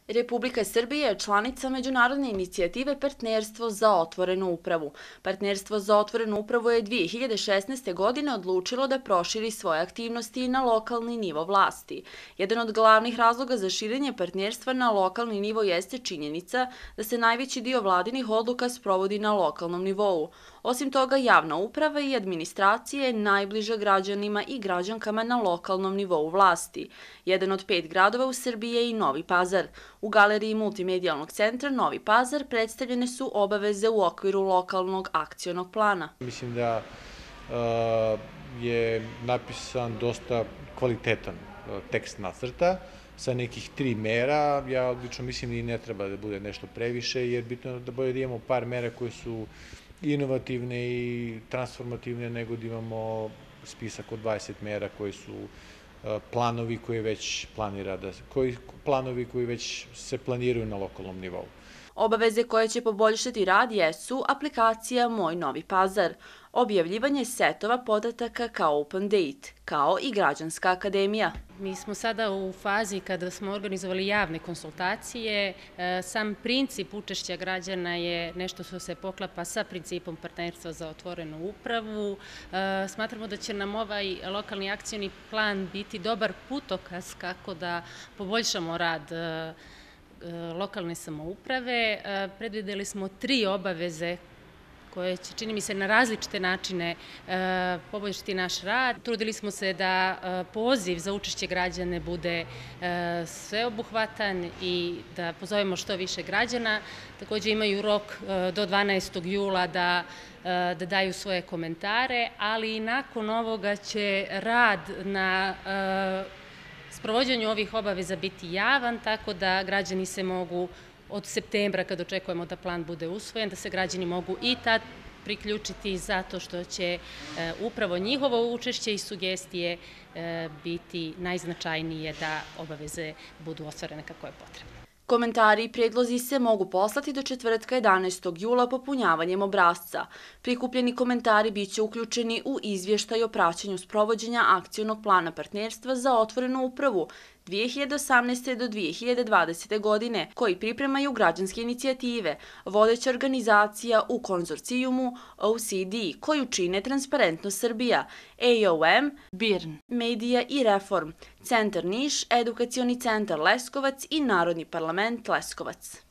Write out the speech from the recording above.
Republika Srbija je članica međunarodne inicijative Partnerstvo za otvorenu upravu. Partnerstvo za otvorenu upravu je 2016. godine odlučilo da proširi svoje aktivnosti na lokalni nivo vlasti. Jedan od glavnih razloga za širenje partnerstva na lokalni nivo jeste činjenica da se najveći dio vladinih odluka sprovodi na lokalnom nivou. Osim toga, javna uprava i administracija je najbliža građanima i građankama na lokalnom nivou vlasti. Jedan od 5 gradova u Srbiji je i Novi Pazar. U galeriji Multimedijalnog centra Novi Pazar predstavljene su obaveze u okviru lokalnog akcionog plana. Mislim da je napisan dosta kvalitetan tekst nacrta sa nekih 3 mera. Ja odlično mislim da i ne treba da bude nešto previše, jer bitno je da bolje da imamo par mera koje su inovativne i transformativne, nego da imamo spisak od 20 mera koji su planovi koji već se planiraju na lokalnom nivou. Obaveze koje će poboljšati rad jesu aplikacija Moj Novi Pazar, objavljivanje setova podataka kao Open Date, kao i Građanska akademija. Mi smo sada u fazi kada smo organizovali javne konsultacije. Sam princip učešća građana je nešto što se poklapa sa principom Partnerstva za otvorenu upravu. Smatramo da će nam ovaj lokalni akcioni plan biti dobar putokaz kako da poboljšamo rad lokalne samouprave. Predvideli smo 3 obaveze koje će, čini mi se, na različite načine poboljšati naš rad. Trudili smo se da poziv za učešće građana bude sveobuhvatan i da pozovemo što više građana. Također imaju rok do 12. jula da daju svoje komentare, ali i nakon ovoga će rad na sprovođenju ovih obaveza biti javan, tako da građani se mogu od septembra, kad očekujemo da plan bude usvojen, da se građani mogu i tad priključiti zato što će upravo njihovo učešće i sugestije biti najznačajnije da obaveze budu ostvarene kako je potrebno. Komentari i predlozi se mogu poslati do četvrtka 11. jula popunjavanjem obrasca. Prikupljeni komentari biće uključeni u izvještaj o praćenju sprovođenja akcionog plana Partnerstva za otvorenu upravu 2018. do 2020. godine, koji pripremaju građanske inicijative, vodeća organizacija u konzorcijumu OCD, koju čine Transparentnost Srbija, AOM, BIRN, Medija i Reform, Centar Niš, Edukacioni centar Leskovac i Narodni parlament Leskovac.